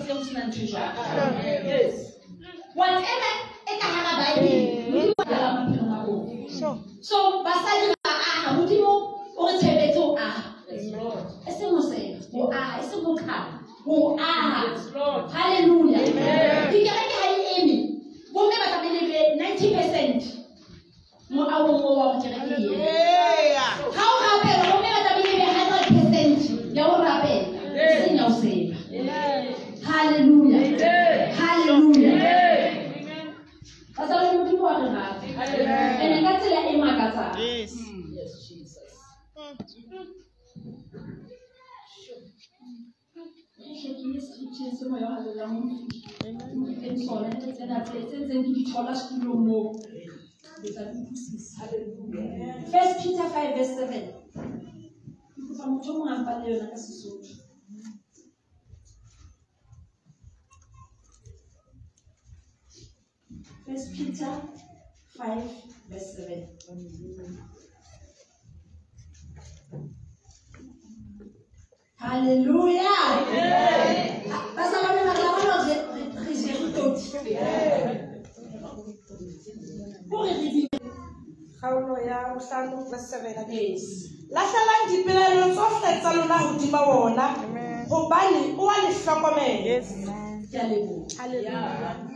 closet ho sena ntho e jwalo. Yes. Whatever e ka hara Bible, Modimo o tla maphelong a rona. So basadi ba aha, Modimo o re tshepetse ho aha. E seng ho seba, ho aha, e seng ho qhala, ho aha. Hallelujah. Dikereke ha di eme. Bomme ba tlamehile be 90% moahong oo wa hore kereke e eme. Ha o rapela, bomme ba tlamehile be 100% ya ho rapela, e seng ya ho seba. Hallelujah. Hallelujah. Bazalwane, Modimo wa re rata. Ene ka tsela e makatsang. Yes. Yes, Jesus. Ke scripture se moya o halalelang o mfileng sona, le tsena tse ntseng ke di thola setulong moo. Le tla di utlwisisa. First Peter 5 verse 7. Ke kopa motho o mong a mpalle yona ka Sesotho. First Peter 5 verse 7. Hallelujah. Bazalwane, ba re bona re jere toti. Hore re di Kgaolo ya bohlano verse 7. Yes. Lahlelang dipelaelo tsohle tsa lona hodima wona, hobane o a le hlokomela. Yes. Ke a leboha. Hallelujah.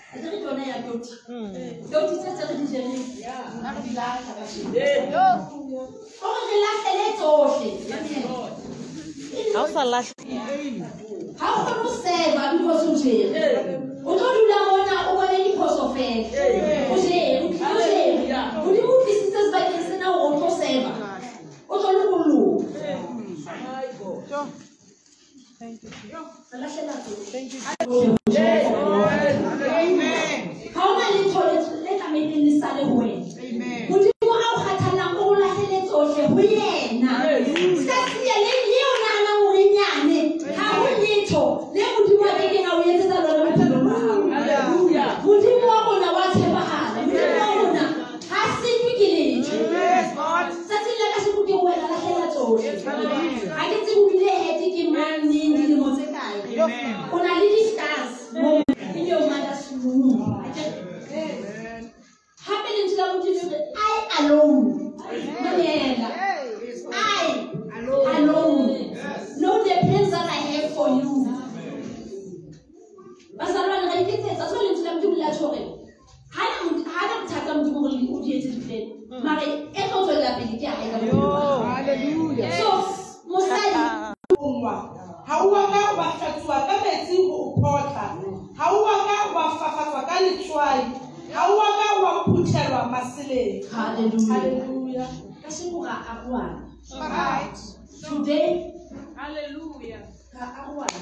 A ke re ke yona ya toti. Toti tse tse re di jereng, re di lahla kajeno. Hore re lahlele tsohle. Ha o sa lahle. Ha o kgone ho seba because o jere. O tlo dula mona o bone diphoso fela. O jere, o tlile o jere. Modimo o tlisitse sebakeng sena hore o tlo seba. O tlo lokolloha. Thank you. Re lahlela tsohle. Thank you. Ha hona letho le tlamehileng le sale ho wena. Modimo a o kgathallang o lahlele tsohle ho yena. Ska siya le le o nahanang hore nyane. Ha ho letho le Modimo a kekeng a o etsetsa lona bophelong ba hao. Modimo wa rona wa tshepahala. Modimo wa rona ha senywe ke letho. Tsatsing la kasheko ke wena lahlela tsohle. Ha ke tsebe o bile hete ke mang neng dilemo tse kae. O na le di-scars mo in your mother's womb. Hape lentswe la Modimo le re, I alone. Mamela. I alone know the plans that I have for you. Bazalwane, ra iketsetsa. So lentswe la Modimo le a tjho hore hana bothata Modimo hore o di etse di-plan. Mare e tlo tswella pele ke ya hae ka bophelo ba hao. So mosadi Ungwa. Ha o a ka wa hlatsuwa ka metsi ho o photla. Ha o a ka wa fafatswa ka letswai. Ha o a ka wa phuthelwa maseleng. Hallelujah. Hallelujah. Kasheko ra arohana. Right. Today Hallelujah. ra arohana.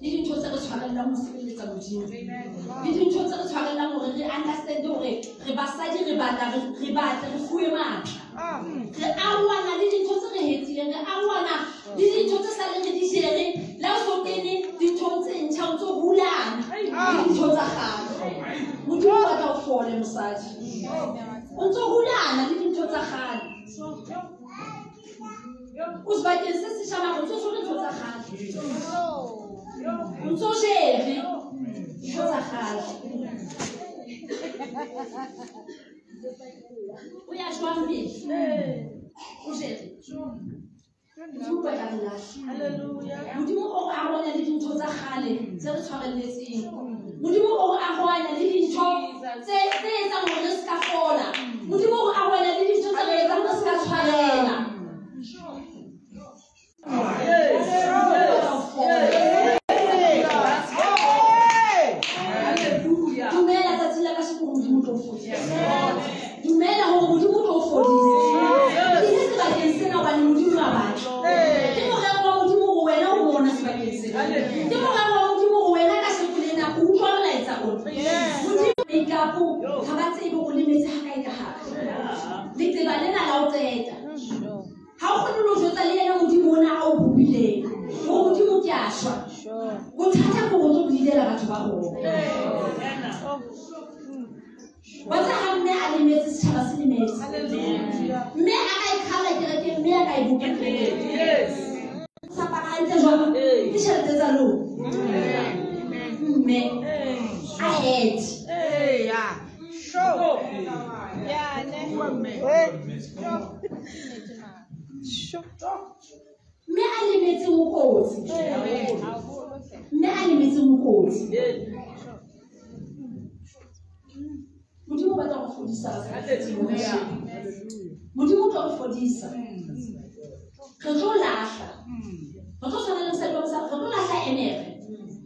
Le dintho tse re tshwarellang ho sebeletsa Modimo. Le dintho tse re tshwarellang hore re understand hore re basadi re batla re batle re fuwe matla. Re arohana le dintho tse re hetileng, re arohana le dintho tse saleng re di jere. Le ha o so kene dinthong tse ntjha, o ntso hulana le dintho tsa kgale. Modimo o batla o fole mosadi. O ntso hulana le dintho tsa kgale. O sebakeng se setjha mara o ntso tshwere ntho tsa kgale. O ntso jere ntho tsa kgale. O ya jwang pele? O jere. Modimo o batla re lahle. Modimo o re arohanya le dintho tsa kgale tse re tshwarelletseng. Modimo o re arohanya le dintho tse etsang hore re ska fola. Modimo o re arohanya le dintho tse re etsang re ska tshwarela. Dumela tsatsing la kasheko hore Modimo o tlo o fodisa. Dumela hore Modimo o tlo o fodisa. Ke ile sebakeng sena hobane Modimo wa batla. Ke morero wa Modimo hore wena o mona sebakeng sena. Ke morero wa Modimo hore wena kasheko lena o utlwa molaetsa ona. Modimo make-up ha ba tsebe hore o lemetse ha kae ka hare. Letseba lena la o qeta. Ha o kgone le ho jwetsa le yena Modimo ona a o bopileng hore Modimo ke a shwa. Bothata ke hore o tlo bleedela batho ba rona. Wa tseba ha mme a lemetse, setjhaba se lemetse. hope. Yes. Sa apara hantle jwang? Ke tjhelete tsa lona. Mme ahead. Sure. Yeah, ne. Sure. Mme a lemetseng o kotsi. Mme a lemetseng o kotsi. Modimo o batla go fodisa basadi. Modimo o tlo re fodisa. Re tlo lahla. Re tlo tshwana le mosadi wa mosadi, re tlo lahla emere.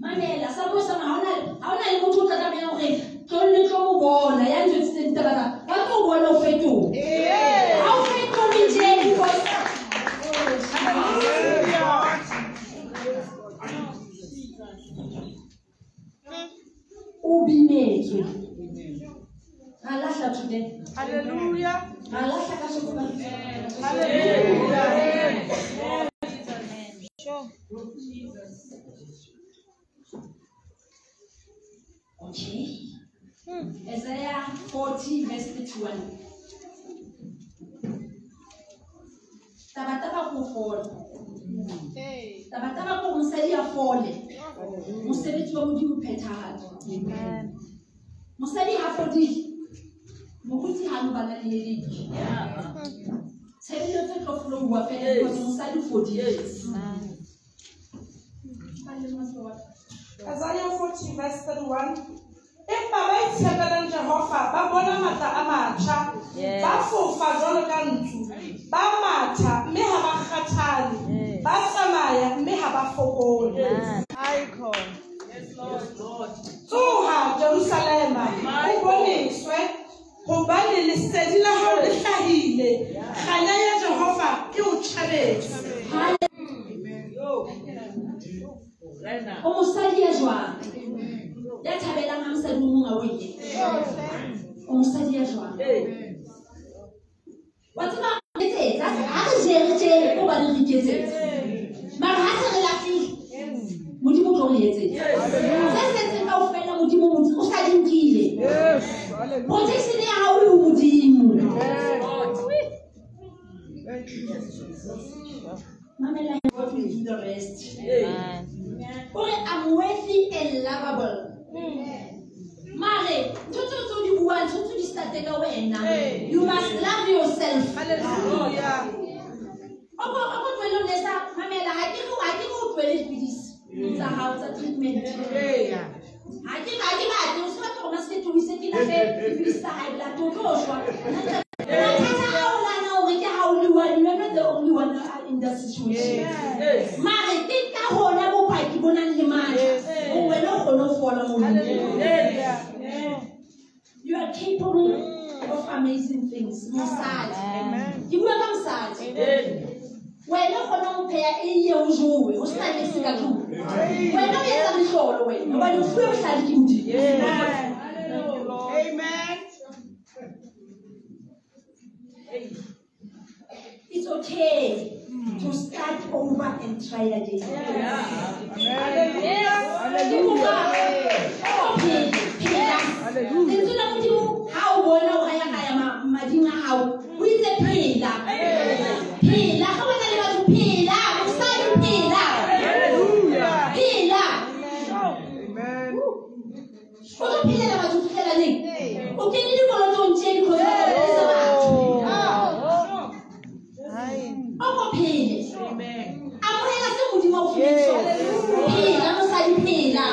Mamela, sa mo sa ha ona le motho o tla tlamehang hore tlo le tlo mo bona ya ntjwetsitse ditaba tsa. Ba tlo o bona o fetoha. Ha o fetohe tje because o binetswe. Ra lahla today. Hallelujah. Ra lahla ka shoko ba. Hallelujah. Sure. Okay. Isaiah 40 verse 31. Tabataba ko fola. Tabataba ko mosadi a fole. Mosebetsi wa Modimo phethahatso. Amen. Mosadi ha fodile. Moruti ha no bana le headache. Tshebeletso e tlo flowa fela because mosadi o fodile. Isaiah 40 verse 31. Empa ba itshepelang Jehova ba bona matla a matjha, ba fofa jwalo ka ntsu, ba matha mme ha ba kgathale, ba tsamaya mme ha ba fokole. Tsoha Jerusalema, o boneswe, hobane lesedi la hao le hlahile, kganya ya Jehova e o tjhabetse. O mosadi ya jwang? Ya thabelang ha mosadi o mong a o ile. O mosadi ya jwang? Wa tseba etsetsa ha re jere tje ko ba re iketsetsa. Mara ha se re lahlile, Modimo o tlo re etsetsa. Se setseng kaofela Modimo o sa di nkile. Protection ya hao e ho Modimo. Mamela, God will do the rest. Amen. Ore I'm worthy and lovable. Mare, ntho tseo di buang, ntho tseo di starte ka wena. You must love yourself. Hallelujah. O ko tlohele ho nesa, mamela, ha ke re o tlohele dipidisi tsa hao tsa treatment. Ha ke batle, o se batle hore masekete o ise ke lahle dipidisi tsa high blood, o tlo shwa. Mathata a o nahana hore ke ha o le one, you are not the only one in that situation. Mare ke ka hona bopaki bo nang le matla. O wena o kgone ho fola moo. You are capable of amazing things. Mosadi. Ke bua ka mosadi. Wena o kgona ho pheha eiye o jowe, o sena niks ka tlung. Wena o etsa mehlolo wena, hobane o fuwe bohlale ke Modimo. Amen. It's okay to start over and try again. Hallelujah. Lentswe la Modimo ha o bona o ya ka ya mading a hao, o itse phela. Phela, ha bona le batho phela, mosadi phela. Hallelujah. Phela. Amen. O tlo phelela batho fihlela neng? O kene dikolotong tje because o tla batho. O ko phele. Amohela se Modimo a o fileng sona. Phela mosadi phela.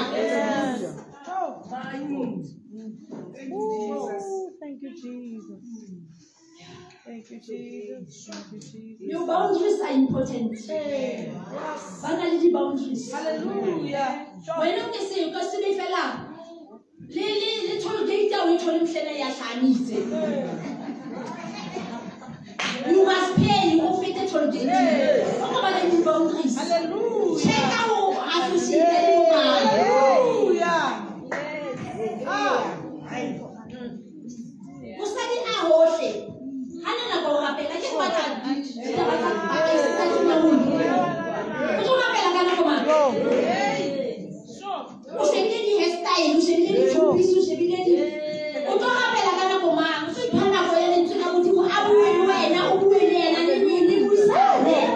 Thank you, Jesus. Thank you, Jesus. Thank you, Jesus. Your boundaries are important. Ba na le di-boundaries. Hallelujah. Wena o ke se o ka se be fela le toll gate o e thole mehlena ya hlamitse. You must pay o fete toll gate. O ko ba le di-boundaries. Hallelujah. Check out associate le bo mang. Hallelujah. Mosadi a hohle. Ha na nako ho rapela ke batla ditaba tsa tsa dinahong. O tlo rapela ka nako mang? O shebile di-hairstyle, o shebile di-two-piece, o shebile di. O tlo rapela ka nako mang? O tlo ipha nako ya lentswe la Modimo a bue le wena, o bue le yena, le buisane.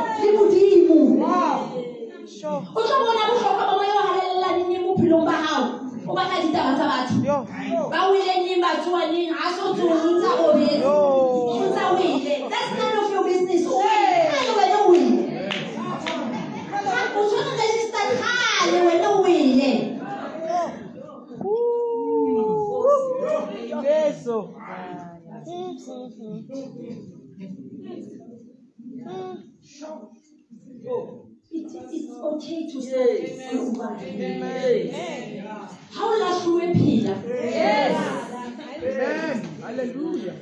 It's okay to stop. How lahluwe phila? Yes. Amen. Hallelujah.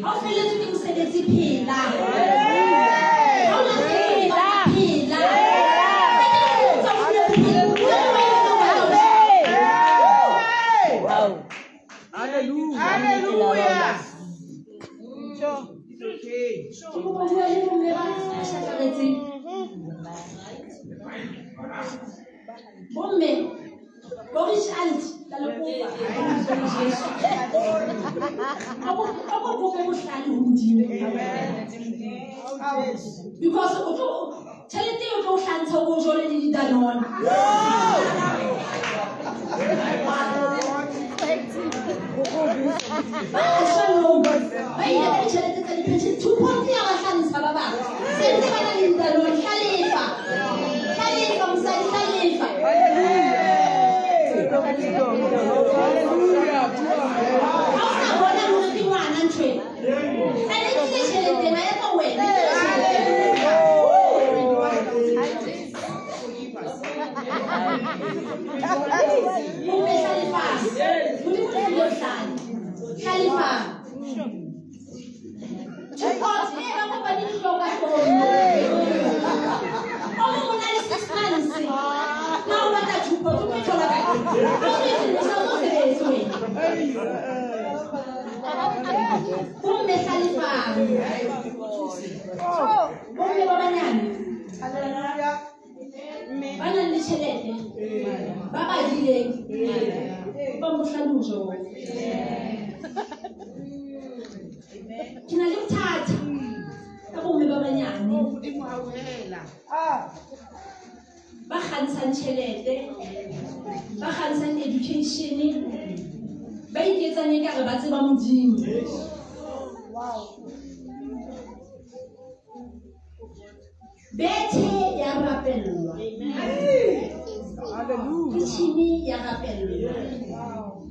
How feletswe ke mosebetsi phila? How lahluwe phila? Hallelujah. Hallelujah. It's okay. Bomme, Boris Alt, la lekopa. Because o tlo tšhelete o tlo hlantsha o jole le didanone. Ba shano ba ile ka ditšhelete tsa di-pension 2.3 ya ba hlantsha ba bang. Se ntse ba na le didanone hlalefa. Hlalefa mosadi hlalefa. Hallelujah. Ha o sa bona hore ke ngwana ntho ena. A ne ke tjhelete ena ya ka wena. Bomme hlalefa. Modimo o tlile bohlale. Hlalefa. Tjhepot e ba kopane di hloka hloohong. O mong o na le 6 months. Ha o batla tjhepot o tlo thola kae? Ha o so sa o sebetse wena. Bomme hlalefang. Bomme ba banyane. Ba nang le tjhelete. Ba badileng. Ba bohlale ho jona. Ke na le bothata ka bomme ba banyane. Ba kgantshang tjhelete, ba kgantshang education, ba iketsang ekare ba tseba Modimo. Bethe ya rapellwa. Kitchen ya rapellwa.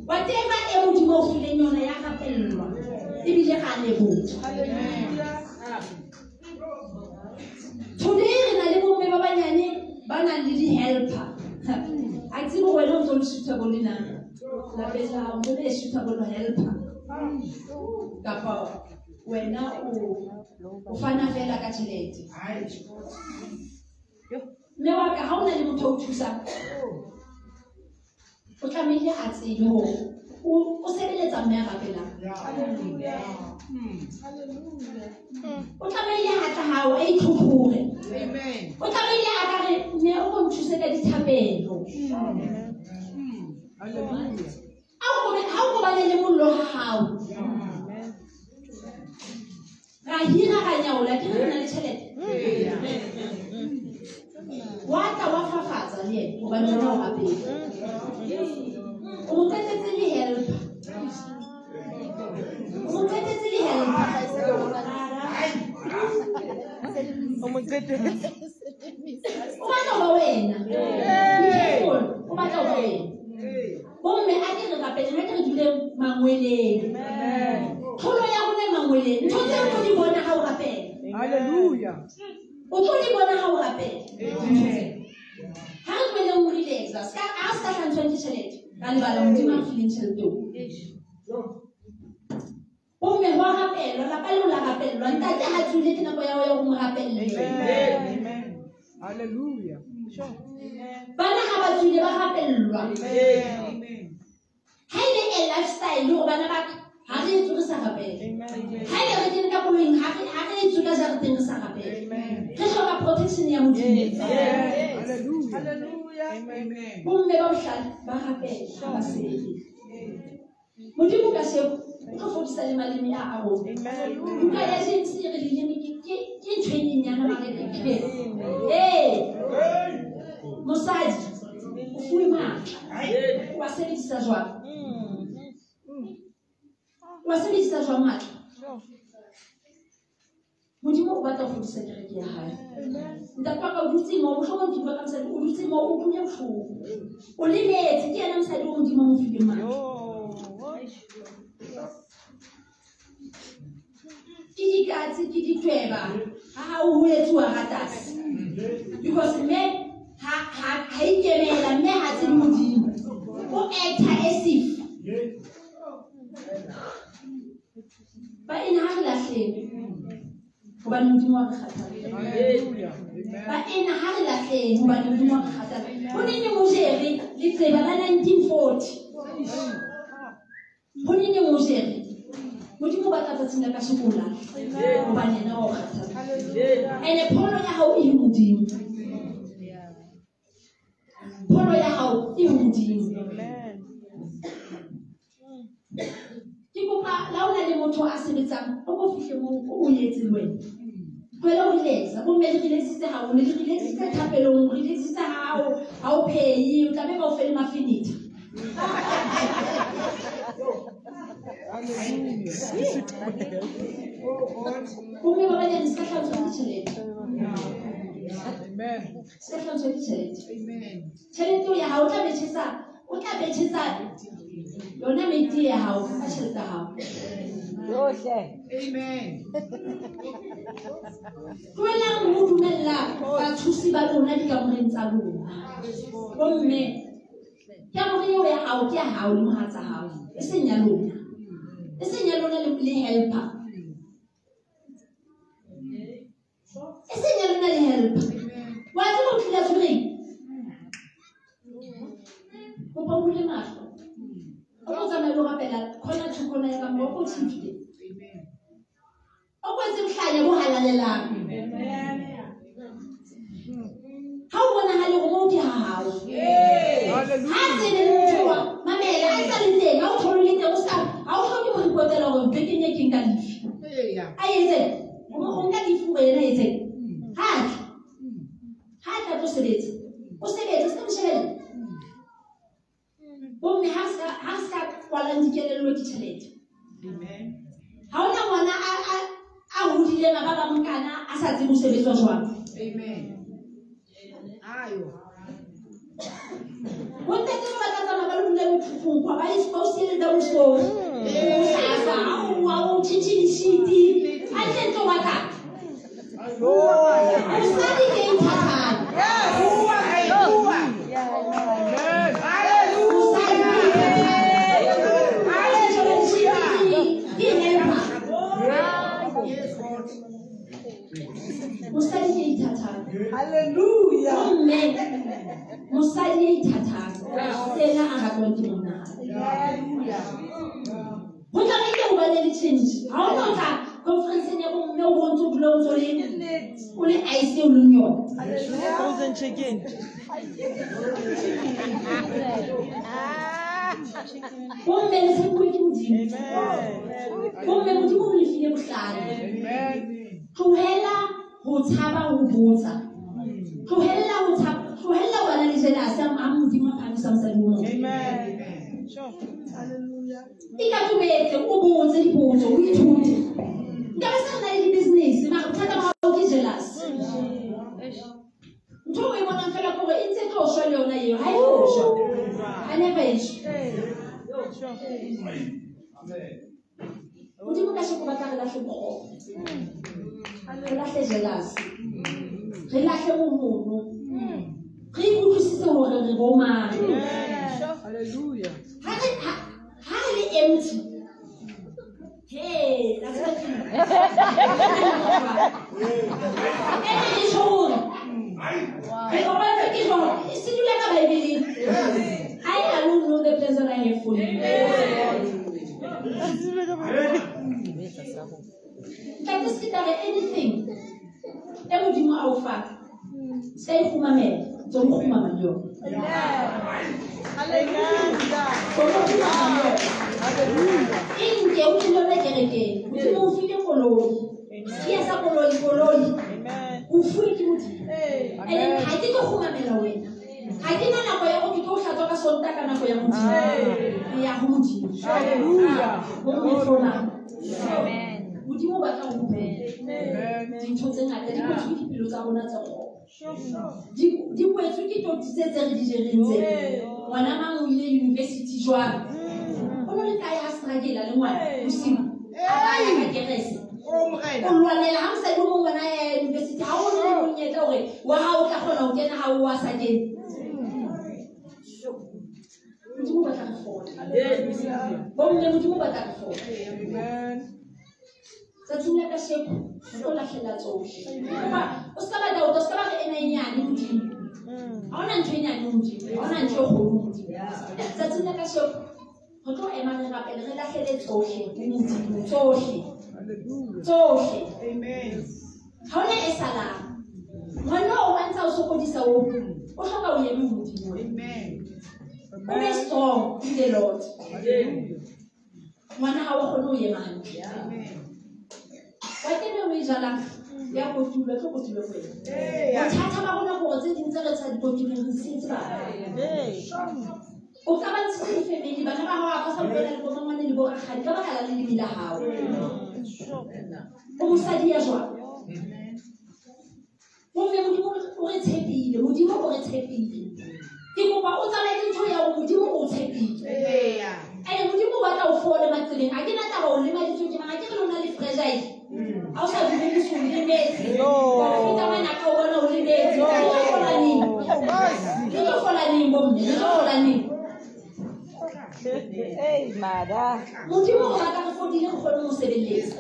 Whatever e Modimo o fileng yona ya rapellwa. Ebile ga a leboha. Today re na le bomme ba banyane ba nang le di-helper. A tsebe wena o ntso le suitable na? Lapeng la hao ntso le suitable helper. Kapa wena o fana fela ka tjhelete. Mme wa ka ha o na le motho o thusang, o tlamehile a tsebe hore o sebeletsa mme a rapelang. O tlamehile a tla hao a itlhophore. O tlamehile a ka re mme o ko nthuse ka dithapelo. Ha o kobane le mollo ha hao. Ra hira ra nyaola ke re na le tjhelete. Wa tla wa fafatsa le yena hobane wena o rapela. O mo qetetse le helper. O mo qetetse le helper. O mo qetetse. O batla ho ba wena. Be careful. O batla ho ba wena. Bomme a ke re rapele, a ke re dule mangweleng. Tlholo ya rona e mangweleng. Ntho tseo o tlo di bona ha o rapela. Hallelujah. O tlo di bona ha o rapela. Ha re tlohelleng ho relaxa. Ska ha se ka hlantshwang ke tjhelete. Ka lebala Modimo a fileng tjhelete eo. Bomme ho a rapelwa, lapa leo la rapellwa. Ntate ha tswile ke nako ya ho ya ho mo rapella. Amen. Hallelujah. Bana ha ba tswile ba rapellwa. Ha e le a lifestyle hore bana ba ka ha re etswe re sa rapele. Ha e le re kene ka koloing ha re etswe ka jareteng re sa rapele. Re hloka protection ya Modimo. Hallelujah. Bomme ba bohlale ba rapela ha ba sele. Modimo ka sheko o tlo fodisa le maleme a rona. Buka ya James e re leleme ke ntho e nyenyane mare ke. Ee. Mosadi o fuwe matla. O a sebedisa jwang? O a sebedisa jwang matla? Modimo o batla ho fodisa kereke ya hae. Ntate wa ka o dutse moo, mohlomong ke bua ka mosadi, o dutse moo, o utlwile bohloko. O lemetse, ke yena mosadi o Modimo a mo fileng matla. Ke dikatse ke ditweba ha o etsuwa ratasi because mme ha ikemela mme ha tsebe Modimo o acta as if ba ena ha re lahleng hobane Modimo wa re kgathala. Ba ena ha re lahleng hobane Modimo wa re kgathala. Ho nene mojere leqeba la 1940. Ho nene mojere Modimo ba tla tsatsing la ka sekola hobane yena wa o kgathala. Ene pholo ya hao e Modimo. Pholo ya hao e Modimo. Ke kopa la o na le motho a sebetsang o ko fihle moo o etse le wena. Tlohela ho relaxa, bomme le relaxitse haholo, le relaxitse thapelong, relaxitse ha o phehi, o tla be ba o fe le mafinitha. Bomme ba banyane se ka hlatswa ke tjhelete. Se ka hlatswa ke tjhelete. Tjhelete ya hao o tla betjhetsa yona meti ya hao ka tjhelete ya hao. Amen. Tlohelang ho dumella bathusi ba lona dikamoreng tsa lona. Bomme kamore eo ya hao ke ya hao le mohatsa hao, e seng ya lona. E seng ya lona le helper. E seng ya lona le helper. Wa tseba o tlile tshwereng? Kopa o bule mahlo. O tlo tsamaya le ho rapela corner to corner ya kamore, o ko tshifte. O kwetse bohlanya bo halalelang. Ha o bonahale hore moo ke ha hao. Ha tsene le motho wa mamela, a sa le teng, ha o thole le teng, o ska ha o hloke ho ripotela hore bekeng e ke nka lefi. A etse, o nka lefi hore yena etse. Ha tla tlo sebetsa. O sebetse, se ka mo shebella. Bomme ha ska kwalang dikelello ke tjhelete. Ha hona ngwana a hodileng a ba ba mokana a sa tsebe ho sebetswa jwang. Amen. Ayo. Bontate ba tla tsamaya ba lo dula mekhukhung kwa ba o siele double story. O hlasa, o tjhentjhe dishiti. Hantle ntlo wa ka. Mosadi ke ithathang. Mosadi ke ithathang. Hallelujah. Mme mosadi ya ithathang ke yena a ratwang ke monna. Ho tlamehile ho ba le change. Ha o no tla conference-eng ya bomme o bontse o dula o ntso o le ice o leng yona. Frozen chicken. Bomme le tshepuwe ke Modimo. Bomme Modimo o le file bohlale. Tlohela ho tshaba ho botsa. Tlohella ho bana le jealousy ha Modimo a phamisa mosadi o motho. Amen. Sure. Hallelujah. Ikatobetse o botse dipotso o ithute. Nka ba sa na le di-business mara bothata ba hao ke jealous. Ntho o e bonang fela ke hore e ntse e tlo shwa le yona eo, ha e tlo shwa. Ha never e shwe. Modimo ka sheko batla re lahle bokgopo. Re lahle jealousy. Re lahle mohono. Re ikutlwisise hore re bo mang. Hallelujah. Ha re le empty. Hey, that's what you. Ene ke tjho hore re kopantse ke jwang? Se dula ka Bibeleng. I alone know the plans that I have for you. Ntate se ka re anything e Modimo a o fa. Se ka e kgumamela, tswa mo kgumama le yona. Hallelujah. E nke o tlile yona kerekeng. Modimo o file koloi. Sekiya sa koloi, koloi. O fuwe ke Modimo. And then ha ke tlo kgumamela wena. Ha ke na nako ya hore ke tlo hlatswa ka Sontaha ka nako ya Modimo. Re ya ho Modimo. Hallelujah. Bomme hlolang. Modimo o batla ho bua. Dintho tse ngata di kwetswe ke dipelo tsa rona tse kgopo. Di kwetswe ke toti tse tse re di jereng tse. Ngwana mang o ile university jwang? O no le kae ha struggle le ngwana bosiu? A ba ya ka kerese. O lwanela ha mosadi o mong ngwana ya university ha o le monyetla hore wa hao o tla kgona ho kena ha o wa sa kene. Modimo o batla re fola. Bomme Modimo o batla re fola. Tsatsing la kasheko re tlo lahlela tsohle. O ska ba doubt, o ska ba re ena e nyane Modimo. Ha hona ntho e nyane Modimo, ha hona ntho e kgolo Modimo. Tsatsing la kasheko re tlo ema re rapele re lahlele tsohle ho Modimo, tsohle. Tsohle. Amen. Ha hona e salang. Ngwana o wa ntsa o sokodisa o hloka o eme Modimo. Amen. O be strong in the Lord. Ngwana ha o kgone ho ema hantle. Amen. Wa kene o e jalang ya kotulwa, tlo kotulwa ho wena. Bothata ba rona hore tse ding tse re sa di kotuleng re sentse bana. O ka ba ntshitse di-family, bana ba hao ba sa utlwana le bo mmangwane le bo rakgadi ka baka la leleme la hao. O mosadi ya jwang? Bomme Modimo o re tshepile, Modimo o re tshepile. Ke kopa o tsamaye le ntho ya hore Modimo o tshepile. Ene Modimo o batla o fole matseleng. Ha ke na taba o lemaditswe ke mang, ha ke re lona le fragile. Ha o sa dumele o lemetse. Wa feta ngwana ka o bona o lemetse. Le tlo fola neng? Le tlo fola neng bomme? Le tlo fola neng? Modimo o batla re fodile re kgone ho sebeletsa.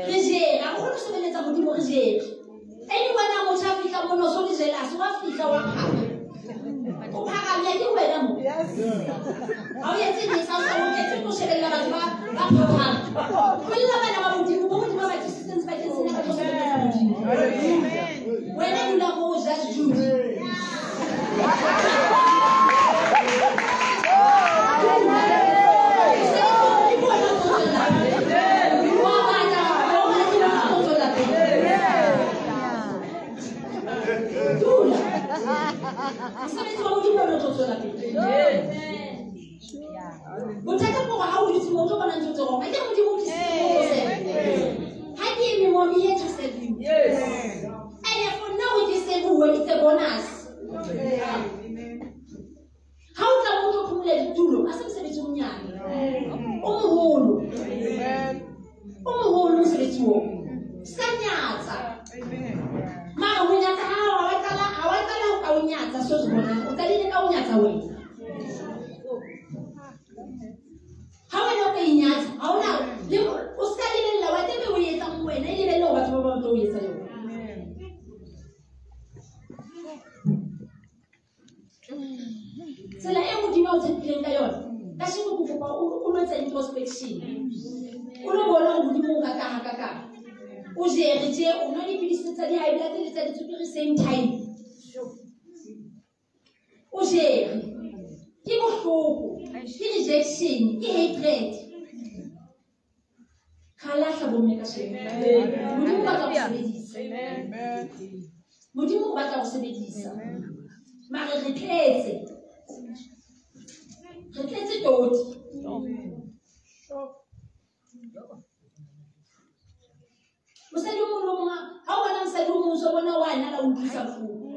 Re jere, ha re kgone ho sebeletsa Modimo re jere. Ene ngwana motho a fihla mona o so le jealous, wa fihla wa phara. O pharamya ke wena mo. Ha o etse niks, ha o sa o etse ko shebella batho ba phaphama. Tlohella bana ba Modimo, bo Modimo ba tlisitseng sebakeng sena ba tlo sebeletsa Modimo. Wena dula moo Judge Judy. Mosebetsi wa Modimo o tlo tswela pele. Bothata ke hore ha o dutse moo o tlo bona ntho tse wrong. Ha ke re Modimo o tlisitse moo o tlo serve. Ha ke eme moo, I'm here to serve you. And for now ke serve-uwe, it's a bonus. Ha o tla moo o tlo phumula ditulo, ha se mosebetsi o monyane. O moholo. O moholo mosebetsi oo. Ska nyatsa. Mara ho nyatsa ha wa qala, ha wa qala ho ka o nyatsa so se bonang. O qadile ka o nyatsa wena. Ha wena o ka inyatsa, ha ona le o ska lebella wa tebe o etsang wena, e lebelle hore batho ba bang ba tlo o etsa yona. Tsela e Modimo a o tshepileng ka yona, kasheko ke kopa o lo etsa introspection. O lo bona hore Modimo o rata hakakang. O jere tje, o nwa dipidisi tsa di-high blood le tsa ditswekere same time. O jere. Ke bohloko, ke rejection, ke hatred. Ra lahla bomme kasheko. Modimo o batla ho sebedisa. Modimo o batla ho sebedisa. Mare re tletse. Re tletse toti. Mosadi o mong le o mong, ha o bona mosadi o mong o so bona wa nala o utlwisa bohloko.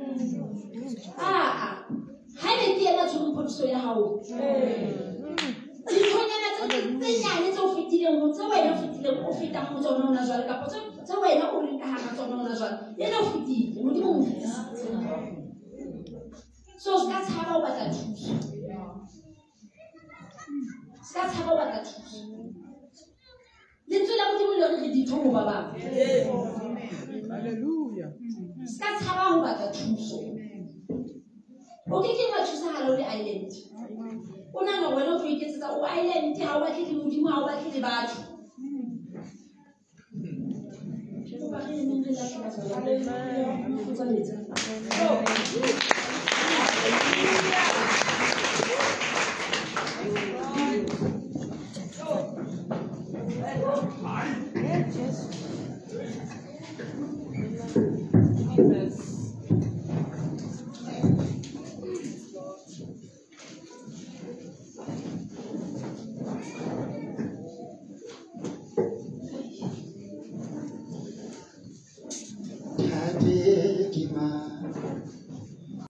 Ha ebe ke yena tshwereng phodiso ya hao. Dinthonyana tse nyane tse o fetileng ho, tse wena o fetileng o fetang ho tsona hona jwale, kapa tse wena o leng ka hara tsona hona jwale, yena o fetile, Modimo o mo fetisitse. So ska tshaba ho batla thuso. Ska tshaba ho batla thuso. Lentswe la Modimo le re re ditho ho ba bang. Hallelujah. Ska tshaba ho batla thuso. O ke ke wa thusahala o le island. O nahana hore wena o tlo iketsetsa o island, ha o batle le Modimo, ha o batle le batho. Ke kopa re emeng re lahle batho ba bang. Jesus.